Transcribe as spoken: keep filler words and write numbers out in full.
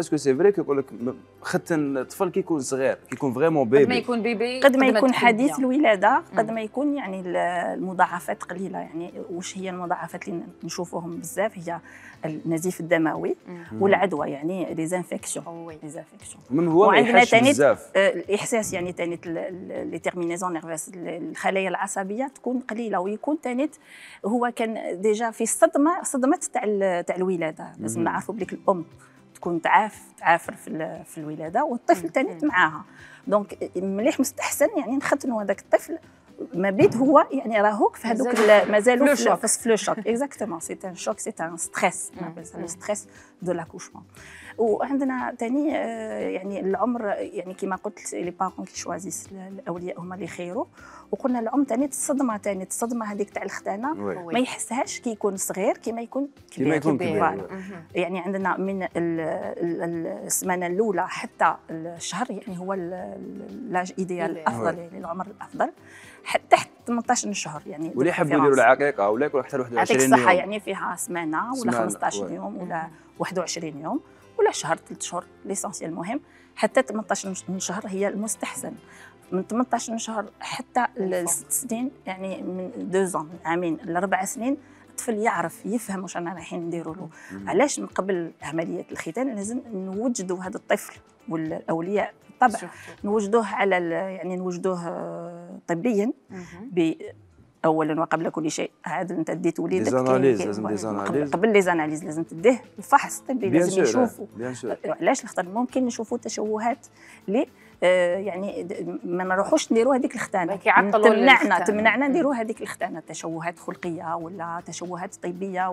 باسكو سي فري كيقول لك ختن الطفل كي يكون صغير كي يكون فريمون بيبي قد ما يكون بيبي قد ما يكون حديث الولاده قد ما يكون يعني المضاعفات قليله. يعني واش هي المضاعفات اللي نشوفوهم بزاف هي النزيف الدموي والعدوى، يعني لي زانفيكسيون لي زانفيكسيون من هو ما يحسش بزاف الاحساس، يعني ثاني لي تيرمينيزون نيرفوس الخلايا العصبيه تكون قليله، ويكون ثاني هو كان ديجا في الصدمه صدمه تاع تاع الولاده. لازم نعرفوا بليك الام تكون تعاف تعافر في في الولاده والطفل ثاني معاها. دونك مليح مستحسن يعني نختنوا هذاك الطفل ما بيت هو يعني راهوك في هذوك مازالوا في لو شوك. اكزاكتومون سي ان شوك، سي ان ستريس، لو ستريس دو لاكوشمون. وعندنا ثاني يعني العمر، يعني كما قلت لي بارون كي شوازيس الاولياء هما اللي يخيروا. وقلنا العمر ثاني الصدمه ثاني الصدمه هذيك تاع الختانه ما يحسهاش كي يكون صغير كيما يكون كبير. كيما يكون كبير. يعني عندنا من السمانه الاولى حتى الشهر، يعني هو لاج ايديال الافضل، يعني العمر الافضل حتى تحت ثمانطاش شهر. يعني واللي يحبوا يديروا العقيقه ولا يكون حتى واحد وعشرين يوم، الصحه يعني فيها سمانه ولا خمسطاش يوم ولا واحد وعشرين يوم ولا شهر ثلاث شهور. ليسونسيال المهم حتى ثمانطاش شهر هي المستحسن. من ثمانطاش شهر حتى لست سنين، يعني من دوزون من عامين لاربع سنين الطفل يعرف يفهم واش رانا رايحين نديروا له. علاش من قبل عمليه الختان لازم نوجدوا هذا الطفل والاولياء بالطبع نوجدوه على يعني نوجدوه طبيا اولا وقبل كل شيء. عاد انت ديت وليدك قبل لي زاناليز لازم تديه الفحص الطبي، لازم يشوفوا علاش لخاطر ممكن نشوفوا تشوهات لي آه يعني ما نروحوش نديروا هذيك الختانه، تمنعنا تمنعنا نديروا هذيك الختانه، تشوهات خلقيه ولا تشوهات طبيه.